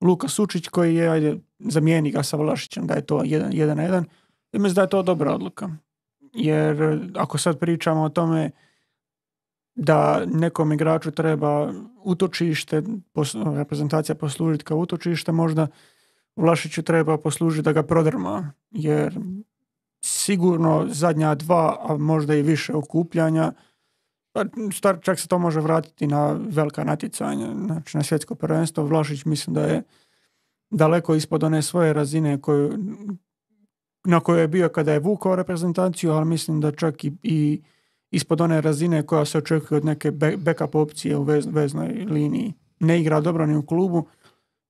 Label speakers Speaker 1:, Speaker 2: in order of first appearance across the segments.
Speaker 1: Luka Sučić koji je, zamijeni ga sa Vlašićem, da je to 1-1. I mislim da je to dobra odluka. Jer ako sad pričamo o tome da nekom igraču treba utočište, reprezentacija poslužiti kao utočište, možda Vlašiću treba poslužiti da ga prodrma, jer sigurno zadnja 2, a možda i više okupljanja, čak se to može vratiti na velika natjecanja, znači na svjetsko prvenstvo. Vlašić mislim da je daleko ispod one svoje razine na kojoj je bio kada je vukao reprezentaciju, ali mislim da čak i ispod one razine koja se očekuje od neke backup opcije u veznoj liniji. Ne igra dobro ni u klubu,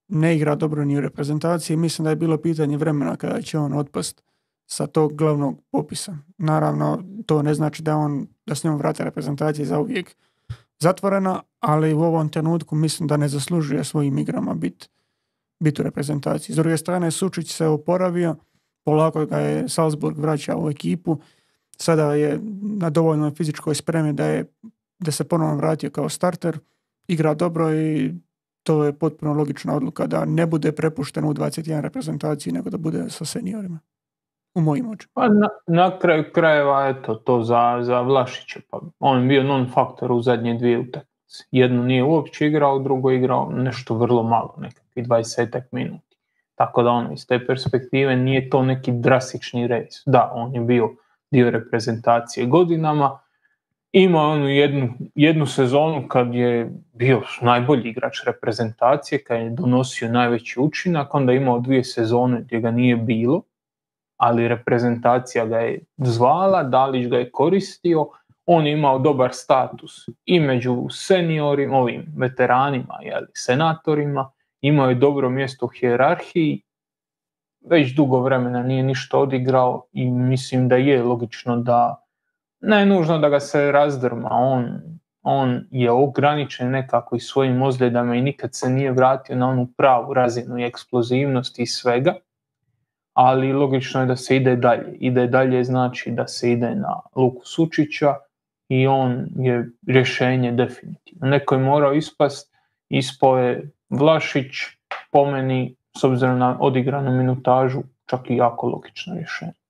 Speaker 1: ne igra dobro ni u reprezentaciji. Mislim da je bilo pitanje vremena kada će on otpast sa tog glavnog popisa. Naravno, to ne znači da s njom vrata reprezentacije za uvijek zatvorena, ali u ovom trenutku mislim da ne zaslužuje svojim igrama biti u reprezentaciji. S druge strane, Sučić se oporavio, polako ga je Salzburg vraća u ekipu, sada je na dovoljnoj fizičkoj spremi da se ponovno vratio kao starter, igra dobro i to je potpuno logična odluka da ne bude prepušten u 21 reprezentaciji, nego da bude sa seniorima. U mojim očima.
Speaker 2: Pa na kraju krajeva, eto, to za Vlašića. Pa on je bio non-faktor u zadnje 2 utakmice. Jednu nije uopće igrao, drugo igrao nešto vrlo malo, nekakvih 20 minuti. Tako da iz te perspektive nije to neki drastični rez. Da, on je bio dio reprezentacije godinama, imao onu jednu sezonu kad je bio najbolji igrač reprezentacije, kad je donosio najveći učinak, onda je imao 2 sezone gdje ga nije bilo, ali reprezentacija ga je zvala, Dalić ga je koristio, on je imao dobar status i među seniorima, ovim veteranima, senatorima, imao je dobro mjesto u hijerarhiji, već dugo vremena nije ništa odigrao i mislim da je logično da ne nužno da ga se razdrma, on je ograničen nekako i svojim ozljedama i nikad se nije vratio na onu pravu razinu i eksplozivnosti i svega, ali logično je da se ide dalje. Ide dalje znači da se ide na Luku Sučića i on je rješenje definitivno. Neko je morao ispao je Vlašić, po meni, s obzirom na odigranu minutažu, čak i jako logično rješenje.